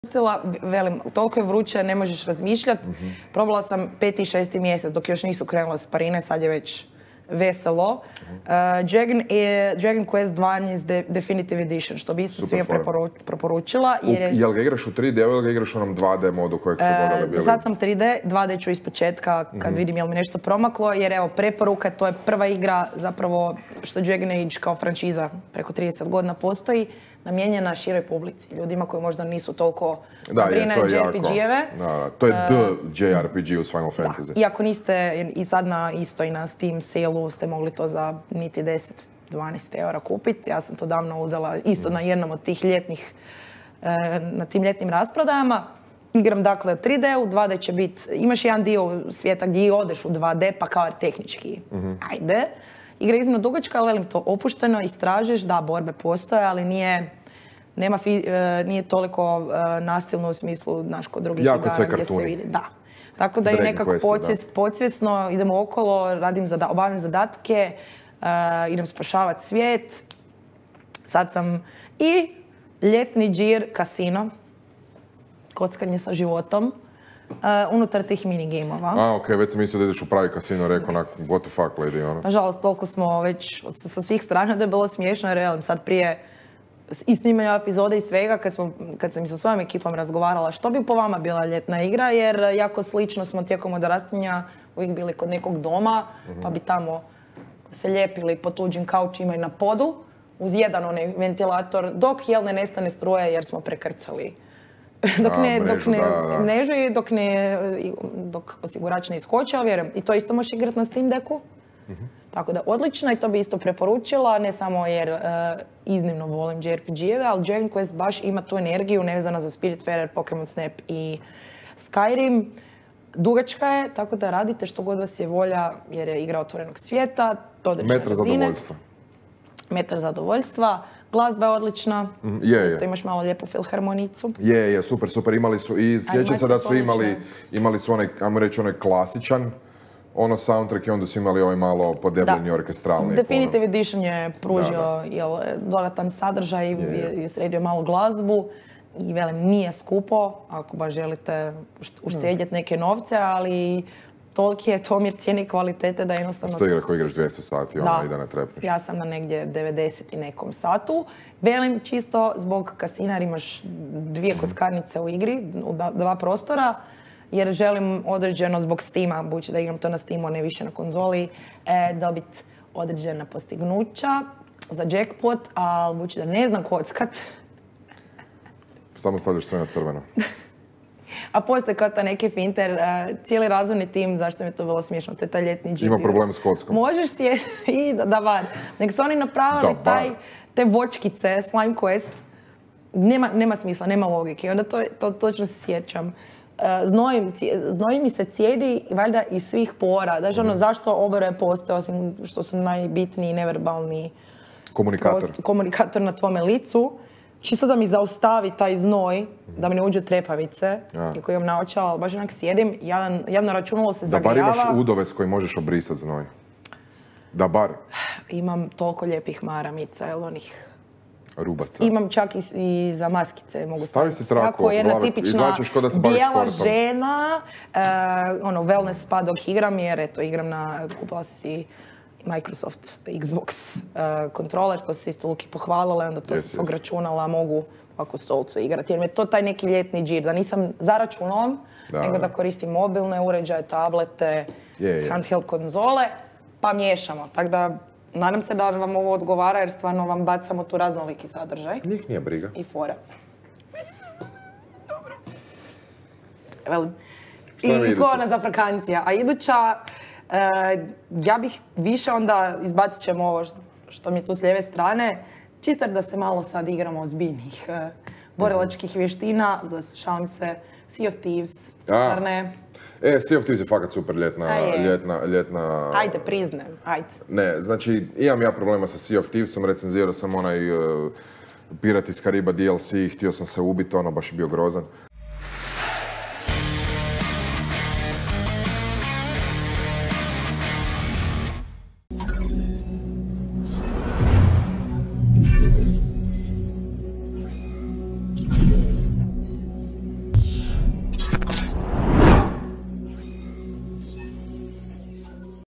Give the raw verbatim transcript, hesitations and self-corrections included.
koristila, velim, toliko je vruće, ne možeš razmišljati. Mm-hmm. Probala sam peti i šesti mjesec dok još nisu krenule sparine, sad je već veselo. Mm-hmm. Uh, Dragon, je, Dragon Quest dva je de, Definitive Edition, što bi isto svima preporučila. Jer je, jel ga igraš u tri D ili ga igraš u onom dva D modu kojeg su dodali bili? Uh, sad sam tri D, dva D ću ispočetka kad mm-hmm. vidim jel mi nešto promaklo, jer evo, preporuka, to je prva igra zapravo što Dragon Age kao franšiza preko trideset godina postoji, namijenjena široj publici, ljudima koji možda nisu toliko brine J R P G-eve. Da, to je the J R P G uz Final Fantasy. Da. I ako niste i sad na isto i na Steam sale-u ste mogli to za niti deset do dvanaest eura kupiti. Ja sam to davno uzela isto mm. na jednom od tih ljetnih, na tim ljetnim rasprodajama. Igram dakle tri D, u dva D će biti, imaš jedan dio svijeta gdje odeš u dva D pa kao tehnički, mm-hmm. ajde. Igra je iznimno dugačka, ali velim to opušteno, istražiš, da, borbe postoje, ali nije, nema fi, uh, nije toliko uh, nasilno u smislu, znaš, kod drugih igara gdje se vidi. Da. Tako da je nekako podsvijest, podsvjesno, idemo okolo, radim zada, obavljam zadatke, uh, idem spašavati svijet. Sad sam i ljetni džir kasino, kockanje sa životom. Uh, unutar tih minigamova. A, okej, okay, već sam mislio da ideš u pravi kasino, rekao na what the fuck lady, ono. Nažalost, toliko smo već od, sa svih strana da je bilo smiješno, jer evo, sad prije i snimanja epizode i svega, kad, smo, kad sam i sa svojom ekipom razgovarala što bi po vama bila ljetna igra, jer jako slično smo tijekom odrastanja uvijek bili kod nekog doma, mm-hmm. pa bi tamo se ljepili po tuđim kaučima i na podu, uz jedan onaj ventilator, dok jel ne nestane struje jer smo prekrcali. Dok ne, A, mrežu, dok ne, da, da. mrežu i dok, ne, dok osigurač ne iskoči, ali vjerujem, i to isto možeš igrati na Steam Decku. Mm-hmm. Tako da odlično i to bi isto preporučila, ne samo jer uh, iznimno volim J R P G-eve, ali Dragon Quest baš ima tu energiju nevezana za Spiritfarer, Pokemon Snap i Skyrim. Dugačka je, tako da radite što god vas je volja, jer je igra otvorenog svijeta, određene Metar razine. zadovoljstva. Metar zadovoljstva. Glazba je odlična, mm, je, isto je. Imaš malo lijepu filharmonicu. Je, je, super, super, imali su i sjećam se da su imali, imali su onaj, ajmo reći, onaj klasičan, ono soundtrack i onda su imali ovaj malo podebljeni orkestralni. Definitive Edition je pružio da, da. Jel, dodatan sadržaj i je, je sredio malo glazbu. I velim, nije skupo, ako baš želite uštedjeti neke novce, ali toliki je to omjer cijene i kvalitete da jednostavno... Sto igra koji igraš dvjesto sati, da, ono i da ne trepneš. Ja sam na negdje devedeset i nekom satu. Velim, čisto zbog kasina jer imaš dvije kockarnice u igri, u dva prostora, jer želim određeno zbog Steama, budući da igram to na Steamu, a ne više na konzoli, e, dobiti određena postignuća za jackpot, ali budući da ne znam kockat... Samo stavljaš sve na crveno. A postoje kao ta neki finter, uh, cijeli razvojni tim, zašto mi je to bilo smiješno, to je taj ljetni džir. Ima problem s kockom. Možeš si je, i da, da bar. Nek su oni napravili da, taj, te vočkice, Slime Quest, nema, nema smisla, nema logike. Onda to, to točno se sjećam. Uh, znoj, znoj mi se cijedi valjda iz svih pora. Daš ono, mm. zašto oboje postoje, osim što su najbitniji neverbalni komunikator. Prost, komunikator na tvome licu. Čisto da mi zaustavi taj znoj, da mi ne uđe trepavice, ja. I koji imam naočao, ali baš onak sjedim, jedan, jedno računalo se zagrijava. Da bar imaš udove s koji možeš obrisati znoj. Da bar. Imam toliko lijepih maramica, jel onih... Rubaca. Imam čak i, i za maskice, mogu stavi si traku oko glave, izvlačiš ko da se baviš sportom. Bijela žena, uh, ono, wellness spa dok igram, jer eto, igram na, kupila si Microsoft Xbox uh, kontroler, to se isto Luki pohvalila, onda to yes, se svog yes. računala mogu ovako stolcu igrati. Jer mi je to taj neki ljetni džir, da nisam za računalom, da, nego da koristim mobilne uređaje, tablete, je, je. handheld konzole, pa miješamo. Tako da, nadam se da vam ovo odgovara, jer stvarno vam bacamo tu raznoliki sadržaj. Njih nije briga. I fora. Dobro. Velim. I ikona za frakancija. A iduća, Uh, ja bih više onda, izbacit ćemo ovo što, što mi je tu s lijeve strane, čitar da se malo sad igramo ozbiljnih uh, borilačkih vještina, da šalim se, Sea of Thieves, zar ne? E, Sea of Thieves je fakat super ljetna, ljetna, ljetna... Ajde, priznajem, ajde. Ne, znači, imam ja problema sa Sea of Thievesom, recenzirao sam onaj uh, Pirat iz Kariba D L C, htio sam se ubiti, ono baš je bio grozan.